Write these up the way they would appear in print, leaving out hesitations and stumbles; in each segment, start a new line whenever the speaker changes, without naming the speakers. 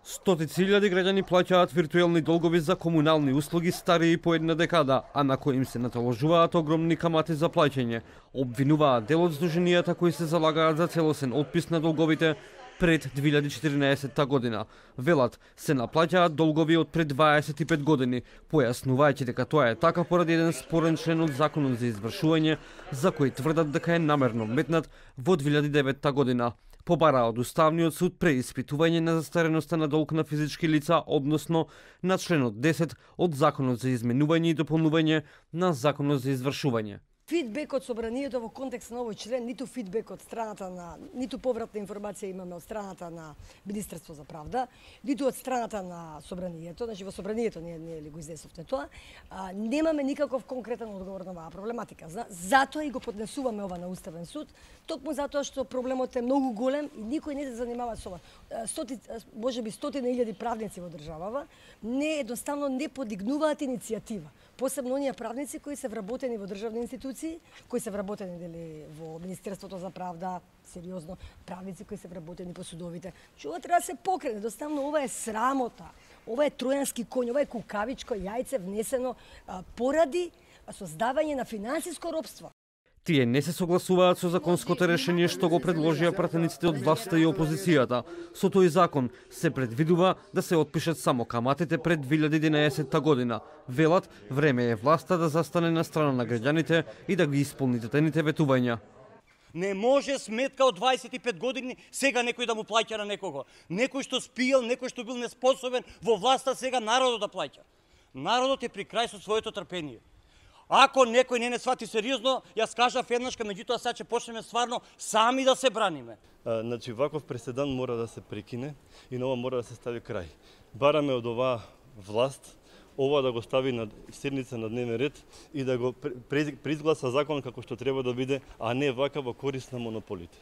Стотици илјади граѓани плаќаат виртуелни долгови за комунални услуги стари по една декада, а на кои им се натоложуваат огромни камати за плаќање. Обвинуваат дел од здруженијата кои се залагаат за целосен отпис на долговите пред 2014 година. Велат, се наплаќаат долгови од пред 25 години, појаснувајќи дека тоа е така поради еден спорен член од Законот за извршување, за кој тврдат дека е намерно метнат во 2009 година. Побараа од Уставниот суд преиспитување на застареноста на долг на физички лица, односно на членот 10 од Законот за изменување и дополнување на Законот за извршување.
Фидбек од собранието во контекст на овој член, ниту фидбек од страната на, ниту повратна информација имаме од страната на Министерство за правда, ниту од страната на собранието, значи во собранието ние ли го изнесовте тоа, немаме никаков конкретен одговор на оваа проблематика. Затоа и го поднесуваме ова на Уставен суд, токму затоа што проблемот е многу голем и никој не се занимава со ова. Можеби стотина илјади правници во државава едноставно не подигнуваат иницијатива. Посебно оние правници кои се вработени во државни институции, кои се вработени во Министерството за правда, сериозно, правници кои се вработени по судовите. Ова треба да се покрене, едноставно ова е срамота, ова е тројански коњ, ова е кукавичко јајце внесено поради создавање на финансиско робство.
Тие не се согласуваат со законското решение што го предложија пратениците од власта и опозицијата. Со тој закон се предвидува да се отпишат само каматите пред 2011 година. Велат, време е власта да застане на страна на граѓаните и да ги исполни дадените ветувања.
Не може сметка од 25 години сега некој да му плаќа на некого. Некој што спиел, некој што бил неспособен во власта, сега народот да плаќа. Народот е при крај со своето трпение. Ако некој не свати сериозно, јас кажав еднашка, меѓутоа сега ќе почнеме стварно сами да се браниме.
Значи ваков преседан мора да се прекине и на ова мора да се стави крај. Бараме од оваа власт ова да го стави на седница на дневен ред и да го преизгласа закон како што треба да биде, а не вака во корист на монополите.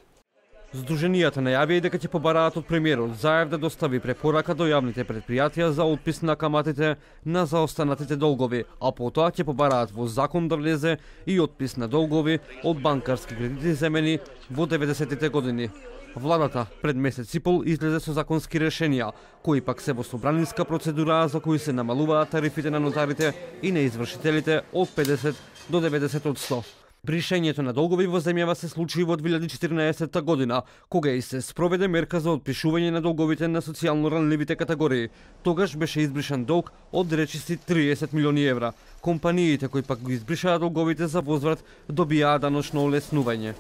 Здруженијата најавија и дека ќе побараат од премиерот Заев да достави препорака до јавните предпријатија за отпис на каматите на заостанатите долгови, а потоа ќе побараат во закон да влезе и отпис на долгови од банкарски кредити земени во 90-тите години. Владата пред месец и пол излезе со законски решенија, кои пак се во собранинска процедура за кои се намалуваат тарифите на нотарите и на извршителите од 50 до 90%. Бришењето на долгови во земјава се случи во 2014 година, кога и се спроведе мерка за отпишување на долговите на социјално ранливите категории. Тогаш беше избришан долг од речиси 30 милиони евра. Компаниите кои пак го избришаа долговите за возврат добиаа даночно олеснување.